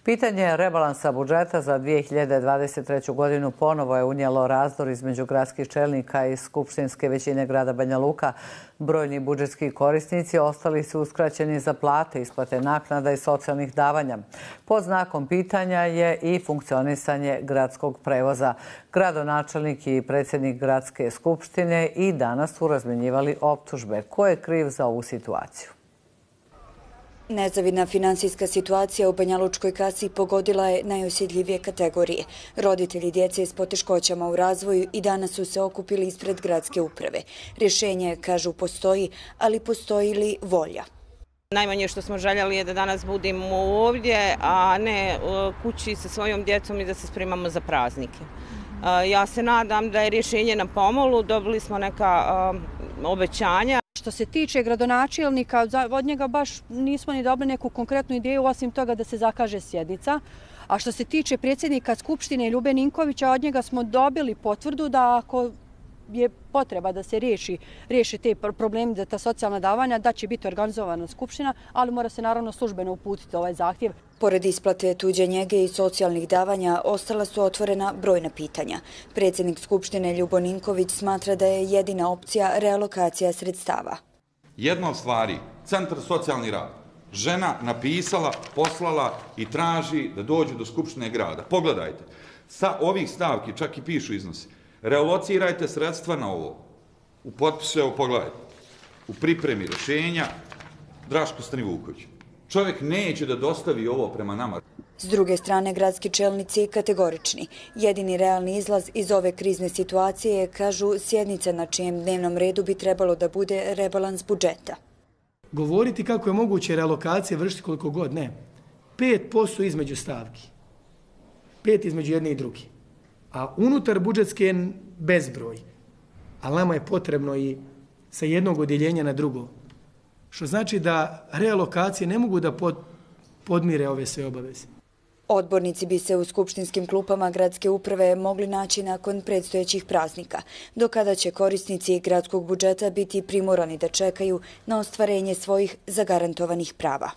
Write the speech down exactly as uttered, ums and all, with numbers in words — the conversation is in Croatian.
Pitanje rebalansa budžeta za dvije hiljade dvadeset treću. godinu ponovo je unijelo razdor između gradskih čelnika i skupštinske većine grada Banja Luka. Brojni budžetski korisnici ostali su uskraćeni za plate, isplate naknada i socijalnih davanja. Pod znakom pitanja je i funkcionisanje gradskog prevoza. Gradonačelnik i predsjednik gradske skupštine i danas su razmenjivali optužbe. Ko je kriv za ovu situaciju? Nezavidna finansijska situacija u banjalučkoj kasi pogodila je najosjetljivije kategorije. Roditelji djece s poteškoćama u razvoju i danas su se okupili ispred gradske uprave. Rješenje, kažu, postoji, ali postoji li volja? Najmanje što smo željeli je da danas budemo ovdje, a ne kući sa svojom djecom i da se spremamo za praznike. Ja se nadam da je rješenje na pomolu, dobili smo neka obećanja. Što se tiče gradonačelnika, od njega baš nismo ni dobili neku konkretnu ideju, osim toga da se zakaže sjednica. A što se tiče predsjednika Skupštine Ljube Ninkovića, od njega smo dobili potvrdu da ako je potreba da se riješi, riješi te problemi za ta socijalna davanja, da će biti organizovana skupština, ali mora se naravno službeno uputiti ovaj zahtjev. Pored isplate tuđe njege i socijalnih davanja, ostala su otvorena brojna pitanja. Predsjednik Skupštine Ljubo Ninković smatra da je jedina opcija realokacija sredstava. Jedna od stvari, Centar socijalni rad, žena napisala, poslala i traži da dođu do Skupštine grada. Pogledajte, sa ovih stavki čak i pišu iznosi. Realocirajte sredstva na ovo. U potpisu, evo pogledajte, u pripremi rješenja Draško Stanivuković. Čovjek neće da dostavi ovo prema nama. S druge strane, gradski čelnici kategorični. Jedini realni izlaz iz ove krizne situacije je, kažu, sjednica na čijem dnevnom redu bi trebalo da bude rebalans budžeta. Govoriti kako je moguće realokacije vršiti koliko god, ne. pet posto između stavki. Pet između jedne i druge. A unutar budžetske je bezbroj. Ali nama je potrebno i sa jednog odjeljenja na drugo. Što znači da realokacije ne mogu da podmire ove sve obaveze. Odbornici bi se u skupštinskim klupama gradske uprave mogli naći nakon predstojećih praznika, do kada će korisnici gradskog budžeta biti primorani da čekaju na ostvarenje svojih zagarantovanih prava.